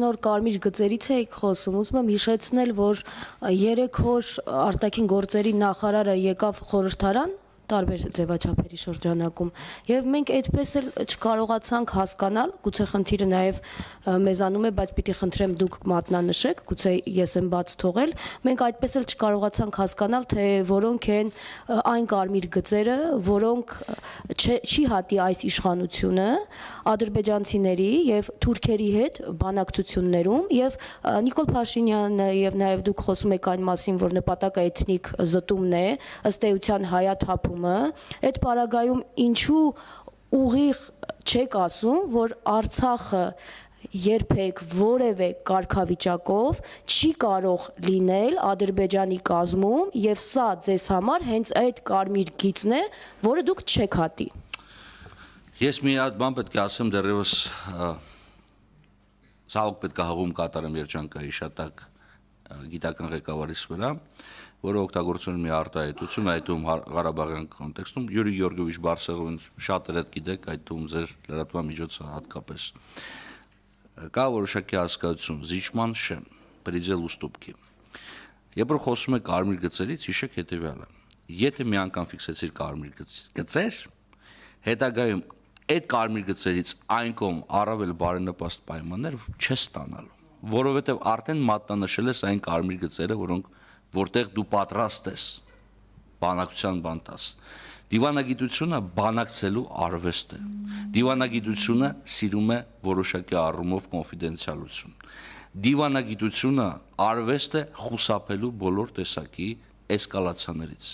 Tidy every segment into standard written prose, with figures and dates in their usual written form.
նոր կարմիր գծերից էիք խոսում, ուզում եմ հիշեցնել, որ 3 օր արտաքին գործերի նախարարը եկավ խորհրդարան տարբեր ձևաչափերի շրջանակում եւ մենք այդպես էլ չկարողացանք հասկանալ, գուցե խնդիրը նաեւ մեզանում է, բայց պիտի խնդրեմ դուք մատնանշեք, գուցե ես եմ բաց թողել, մենք այդպես էլ չկարողացանք հասկանալ, թե որոնք են այն կարմիր գծերը, որոնք չի հատի այս իշխանությունը ադրբեջանցիների եւ թուրքերի հետ բանակցություններում եւ Նիկոլ Փաշինյանը եւ նաեւ դուք խոսում եք այն մասին, որ նպատակը էթնիկ զտումն է, ըստ էության հայաթափումը, այդ պարագայում ինչու ուղիղ չեք ասում, որ Արցախը երբեք որևէ կարգավիճակով չի կարող լինել Ադրբեջանի կազմում եւ սա ձեզ համար հենց այդ կարմիր գիծն է, որը դուք չեք հատի։ Ես մի հատ բան պետք է ասեմ դեռևս ցավոք պետք է հաղում կատարեմ երջանկայի շատակ գիտական ղեկավարից վրա, որը օգտագործում է մի արտահայտություն, այդում Ղարաբաղյան կոնտեքստում Յուրի Գեորգիևիչ Բարսեղովին շատ երետ գիտեք, այդում ձեր լրատվամիջոցը հատկապես կա որոշակի հասկացություն զիջման շեմ, պրիձել ուստուպքի։ Երբ որ խոսում եք կարմիր գծերից, հիշեք հետևյալը. եթե մի անգամ ֆիքսեցիր կարմիր գծեր, հետագայում այդ կարմիր գծերից այն կողմ առավել բարենպաստ պայմաններ չես ստանալու, որովհետև արդեն մատնանշել ես այն կարմիր գծերը, որտեղ դու պատրաստ ես բանակցության բան տաս։ Դիվանագիտությունը բանակցելու արվեստ է։ Դիվանագիտությունը սիրում է որոշակի առումով կոնֆիդենցիալություն։ Դիվանագիտությունը արվեստ է խուսափելու բոլոր տեսակի էսկալացիաներից։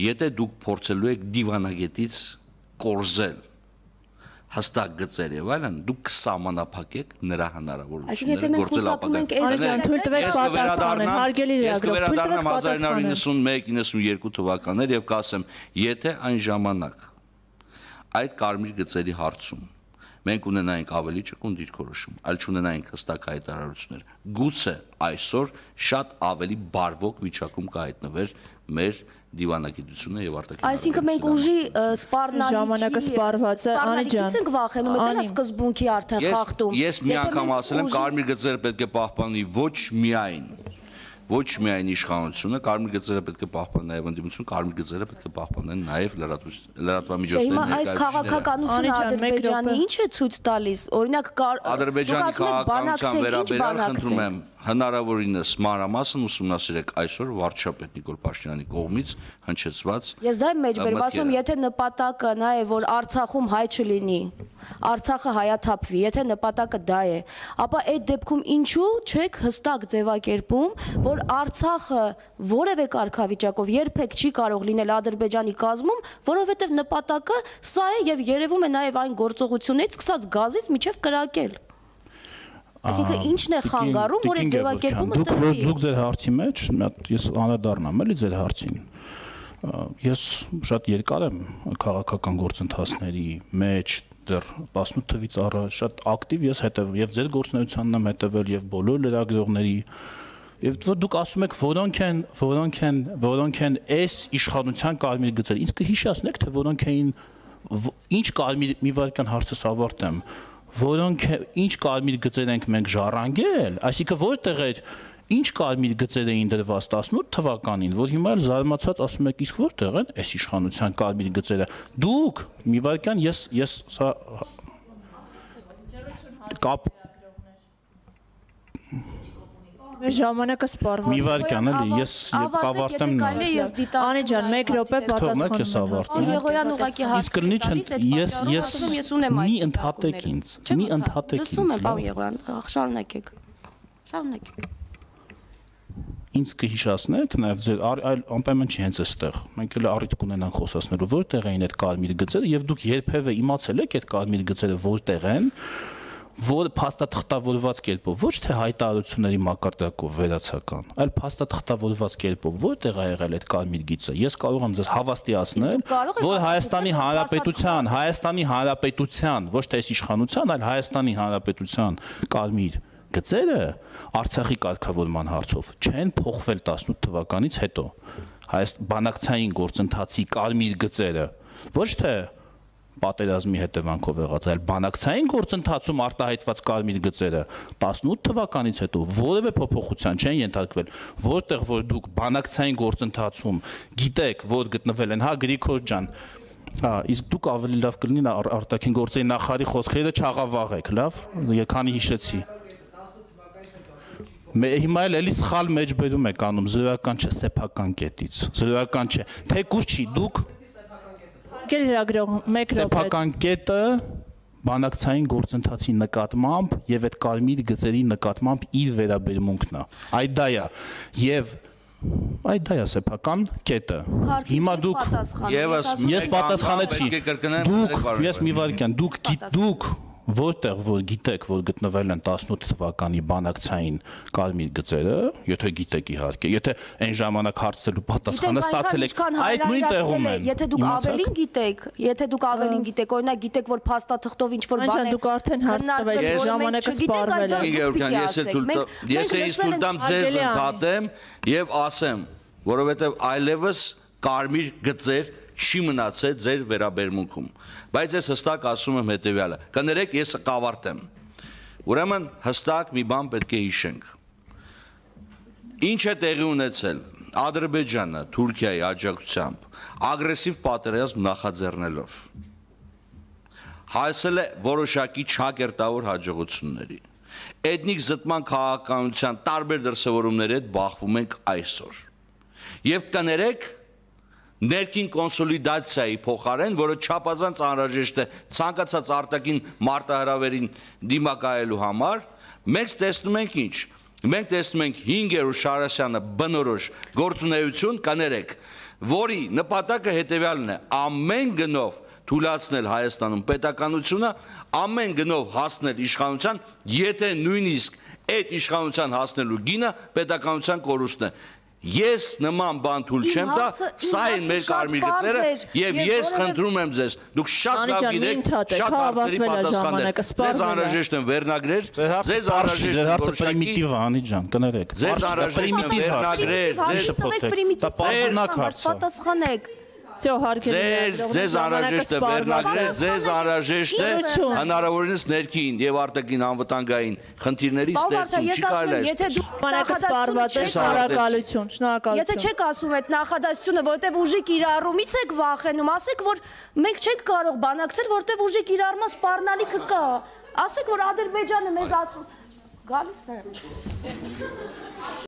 Եթե դուք փորձելու եք դիվանագետից կորզել հստակ գծեր եւ այլն, դուք կսահմանափակեք նրա հնարավորությունները գործել ապագայում։ Արեջան, թույլ տվեք պատասխանել, հարգելի լրագրող, թույլ տվեք 1991-92 թվականներ եւ կասեմ, եթե այն ժամանակ այդ կարմիր գծերի հարցում մենք ունենայինք ավելի ճկուն դիրքորոշում, այլ չունենայինք հստակ հայտարարություններ, գուցե այսօր շատ ավելի բարվոք վիճակում կհայտնվեր մեր դիվանագիտությունը եւ արտաքին։ Այսինքն մենք ուժի սպառնալիքի ժամանակը սպառված է, Անիջան։ Ենք վախենում, դա է սկզբունքի արդեն խախտում։ Ես մի անգամ ասել եմ, կարմիր գծերը պետք է պահպանի ոչ միայն իշխանությունը, կարմիր գծերը պետք է պահպանեն նաեւ ընդդիմությունը, կարմիր գծերը պետք է պահպանեն նաեւ լրատվամիջոցների ներկայացուցիչները։ Այս քաղաքականությունը Ադրբեջանի ինչ է ցույց տալիս։ Օրինակ Ադրբեջանի քաղաքականության վերաբերյալ խնդրում եմ հնարավորինս մանրամասն ուսումնասիրեք այսօր վարչապետ Նիկոլ Փաշինյանի կողմից հնչեցված։ Ես դա եմ մեջբերում, եթե նպատակը նա է, որ Արցախում հայ չլինի, Արցախը հայաթափվի, եթե նպատակը դա է, ապա այդ դեպքում ինչու չեք հստակ ձևակերպում, որ Արցախը որևէ կարգավիճակով երբեք չի կարող լինել Ադրբեջանի կազմում, որովհետև նպատակը սա է եւ երևում է նաեւ այն գործողություններից սկսած գազից միջև կրակել։ Այսինքն ինչն է խանգարում, որ այդ ձևակերպումը տրվի։ Դուք ձեր հարցի մեջ, ես անդրադառնամ էլի ձեր հարցին։ Ես շատ երկար եմ քաղաքական գործընթացների մեջ, դեռ 18 թվականից առաջ շատ ակտիվ ես հետևել եւ ձեր գործունեությանն եմ հետևել եւ բոլոր լրագրողների եւ դուք ասում եք որոնք են այս իշխանության կարմիր գծեր։ Ինձ կհիշեցնեք, թե որոնք էին ինչ կարմիր մի վարքան հարցս ավարտեմ, որոնք ինչ կարմիր գծեր ենք մենք ժառանգել, այսինքն որտեղ էր ինչ կարմիր գծեր էին դրված 18 թվականին, որ հիմա էլ զարմացած ասում եք, իսկ որտեղ են այս իշխանության կարմիր գծերը։ Դուք մի վարքան ես սա կապ Մեր ժամանակը սպառված։ Մի վարքան էլի, ես կավարտեմ նա։ Անիջան, 1 րոպե պատասխանում։ Եղոյան ուղակի հարց։ Ես մի ընդհատեք ինձ։ Մի ընդհատեք ինձ։ Լսում եմ, պարոն Եղոյան, շարունակեք։ Շարունակեք։ Ինձ կհիշացնեք, նաև ձեր այլ անպայման չի հենց այստեղ։ Մենք էլ առիթ կունենանք խոսացնելու, որտեղ էին այդ կարմիր գծերը, եւ դուք երբևէ իմացել եք այդ կարմիր գծերը որտեղ են, որ փաստաթղթավորված կերպով, ոչ թե հայտարարությունների մակարդակով վերացական, այլ փաստաթղթավորված կերպով որտեղ է եղել այդ կարմիր գիծը։ Ես կարող եմ ձեզ հավաստիացնել, որ Հայաստանի Հանրապետության, ոչ թե այս իշխանության, այլ Հայաստանի Հանրապետության կարմիր գծերը Արցախի կարգավորման հարցով չեն փոխվել 18 թվականից հետո։ Բանակցային գործընթացի կարմիր գծերը ոչ թե պատերազմի հետևանքով եղած, այլ բանակցային գործընթացում արտահայտված կարմիր գծերը 18 թվականից հետո որևէ փոփոխության չեն ենթարկվել, որտեղ որ դուք բանակցային գործընթացում գիտեք, որ գտնվել են, հա Գրիգոր ջան, իսկ դուք ավելի լավ կլինի արտաքին գործերի նախարարի խոսքերը չաղավաղեք, լավ, քանի հիշեցի։ Հիմա էլի սխալ մեջբերում եք անում, զրոյական չէ, սեփական կետից, զրոյական չէ, թեկուզ չի, դուք սեփական կետը բանակցային գործընթացի նկատմամբ եւ այդ կարմիր գծերի նկատմամբ իր վերաբերմունքն է, այդ դա է, եւ այդ դա է սեփական կետը։ Հիմա դուք ես պատասխանեցի, ես մի վարքյան, դուք որտեղ որ գիտեք, որ գտնվել են 18 թվականի բանակցային կարմիր գծերը, եթե գիտեք իհարկե, եթե այն ժամանակ հարցելու պատասխանը ստացել եք, այդ նույն տեղում են։ Եթե դուք ավելին գիտեք, օրինակ գիտեք, որ փաստաթղթով ինչ-որ բան է, դուք արդեն հարց տվեք, ժամանակը սպառվել է։ Ես ինձ թույլ տամ ձեզ ընդհատեմ եւ ասեմ, որովհետեւ այլևս կարմիր գծեր չի մնացել ձեր վերաբերմունքում, բայց ես հստակ ասում եմ հետևյալը, կներեք ես կավարտեմ, ուրեմն հստակ մի բան պետք է հիշենք, ինչ է տեղի ունեցել Ադրբեջանը Թուրքիայի աջակցությամբ ագրեսիվ պատերազմ նախաձեռնելով, հասել է որոշակի չակերտավոր հաջողությունների, էթնիկ զտման քաղաքականության տարբեր դրսևորումների հետ բախվում ենք այսօր, եւ կներեք ներքին կոնսոլիդացիայի փոխարեն, որը չափազանց անհրաժեշտ է ցանկացած արտաքին մարտահրավերին դիմակայելու համար, մենք տեսնում ենք ինչ։ Մենք տեսնում ենք 5-րդ Շարասյանը բնորոշ գործունեություն, կներեք, որի նպատակը հետևյալն է՝ ամեն գնով թույլատրել Հայաստանում պետականությունը, ամեն գնով հասնել իշխանության, եթե նույնիսկ այդ իշխանության հասնելու գինը պետականության կորուստն է։ Ես նման բան թույլ չեմ տա, սա են մեր կարմիր գծերը եւ ես խնդրում եմ ձեզ, դուք շատ լավ գիտեք, շատ հարցերի պատասխաններ, ձեզ անհրաժեշտ են վերնագրեր, ձեզ անհրաժեշտ է պրիմիտիվ անի ջան, կներեք, ձեզ անհրաժեշտ է վերնագրեր, ձեզ պատասխանեք։ Ձեզ անհրաժեշտ է վերնագրեր, ձեզ անհրաժեշտ է հնարավորինս ներքին եւ արտաքին անվտանգային խնդիրների ստեղծում, չի կարելի այս։ Բանակը սպառված է, շնորհակալություն, շնորհակալություն։ Եթե չեք ասում այդ նախադասությունը, որտեվ ուժի կիրառումից եք վախենում, ասեք, որ մենք չենք կարող բանակցել, որտեվ ուժի կիրառման սպառնալիքը կա։ Ասեք, որ Ադրբեջանը մեզ գալիս է։